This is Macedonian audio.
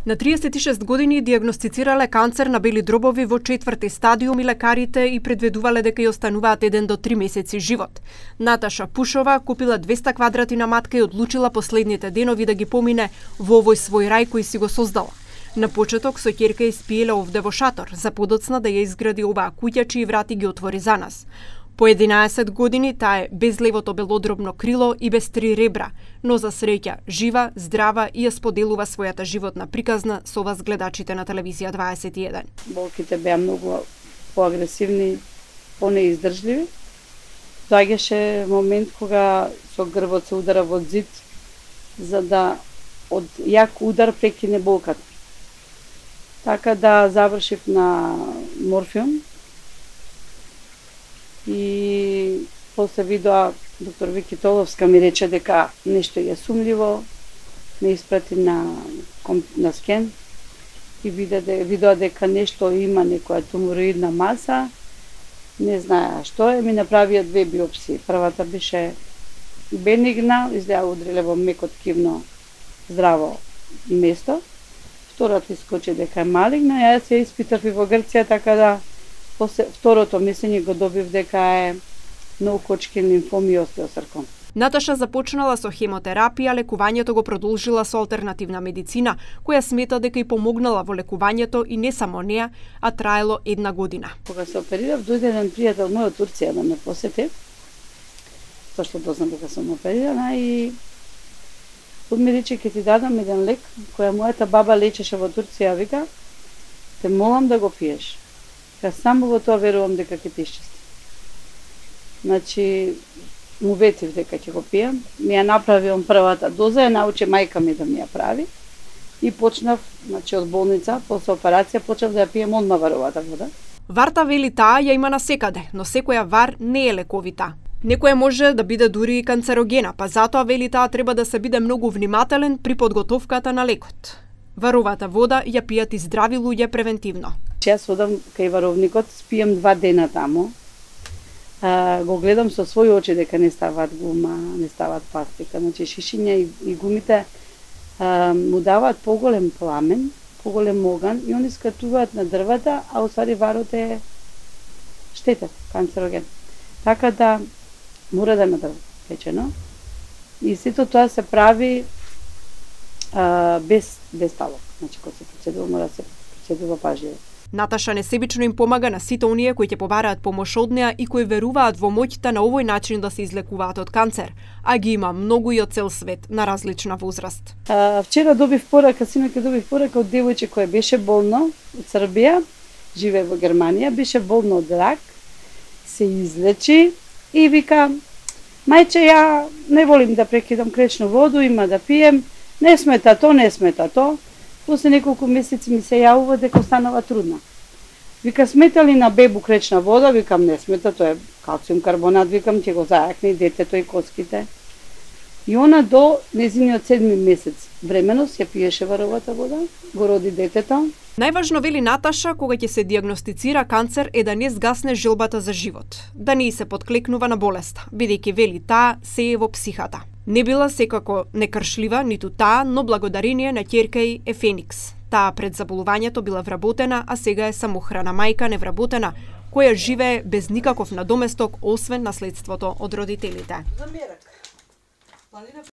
На 36 години диагностицирале канцер на бели дробови во 4-ти стадиум и лекарите и предвидувале дека ја остануваат 1 до 3 месеци живот. Наташа Пушова купила 200 квадрати на матка и одлучила последните денови да ги помине во овој свој рај кој си го создала. На почеток со ќерка испиеле овде во шатор, за подоцна да ја изгради оваа куќа чии врати ги отвори за нас. По 11 години таа е без левото белодробно крило и без 3 ребра, но за среќа жива, здрава и ја споделува својата животна приказна со вас гледачите на телевизија 21. Болките беа многу поагресивни, понеиздржливи. Доаѓаше момент кога со грбот се удара во зид за да од јак удар прекине болката. Така да завршив на морфиум. И после видоа доктор Вики Толовска ми рече дека нешто е сумливо, ме испрати на скен и видоа дека нешто има, некоја тумороидна маса, не знае што е, ми направија 2 биопсии. Првата беше бенигна, изгледа удриле во меко ткивно здраво место. Втората искочи дека е малигна, јас ја испитав и во Грција, така да после второто мислење го добив дека е ноокочкин лимфом и остеосарком. Наташа започнала со хемотерапија, лекувањето го продолжила со алтернативна медицина, која смета дека и помогнала во лекувањето и не само неа, а траело 1 година. Кога се оперирав, дојде еден пријател мој од Турција да ме посети, зашто дознам дека сум оперирана и ми рече ќе ти дадам еден лек која мојата баба лечеше во Турција, вика, те молам да го пиеш. Ја само во тоа верувам дека ќе те исчисти. Значи, му ветив дека ќе го пијам. Ми ја направиам првата доза, ја научи мајка ми да ми ја прави. И почнав, значи од болница, после операција, почнав да ја пијам одма варовата вода. Варта, вели таа, ја има насекаде, но секоја вар не е лековита. Некоја може да биде дури и канцерогена, па затоа, вели таа, треба да се биде многу внимателен при подготовката на лекот. Варовата вода ја пијат и здрави луѓе превентивно. Јас одам кај варовникот, спијам 2 дена таму. Го гледам со своји очи дека не ставаат гума, не ставаат пластика. Значи шишиња и гумите му даваат поголем пламен, поголем оган и они скатуваат на дрвата, а уствари варот е штетен, канцероген. Така да мора да има дрво печено. И сето тоа се прави без талок. Значи кога се процедува, мора да се процедува пажливо. Наташа несебично им помага на сите оние кои ќе побараат помош од неа и кои веруваат во моќта на овој начин да се излекуваат од канцер, а ги има многу и од цел свет на различна возраст. Вчера добив порака, синоќа добив порака од девојче која беше болно од Србија, живее во Германија, беше болно од рак, се излечи и вика: "Мајче, ја не волим да прекидам кречну воду, има да пием, не смета то. После неколку месеци ми се јавува дека станува трудна. Вика, смета ли на бебу кречна вода? Викам, не смета, тоа е калциум карбонат, викам, ќе го зајакне и детето и коските. И она до незиниот 7 месец временост ја пиеше варовата вода, го роди детето. Најважно, вели Наташа, кога ќе се диагностицира канцер е да не згасне желбата за живот, да не се подклекнува на болеста, бидејќи, вели таа, се е во психата. Не била секако некршлива, ниту таа, но благодарение на ќерка ѝ е Феникс. Таа пред заболувањето била вработена, а сега е самохрана мајка невработена, која живее без никаков надоместок, освен наследството од родителите.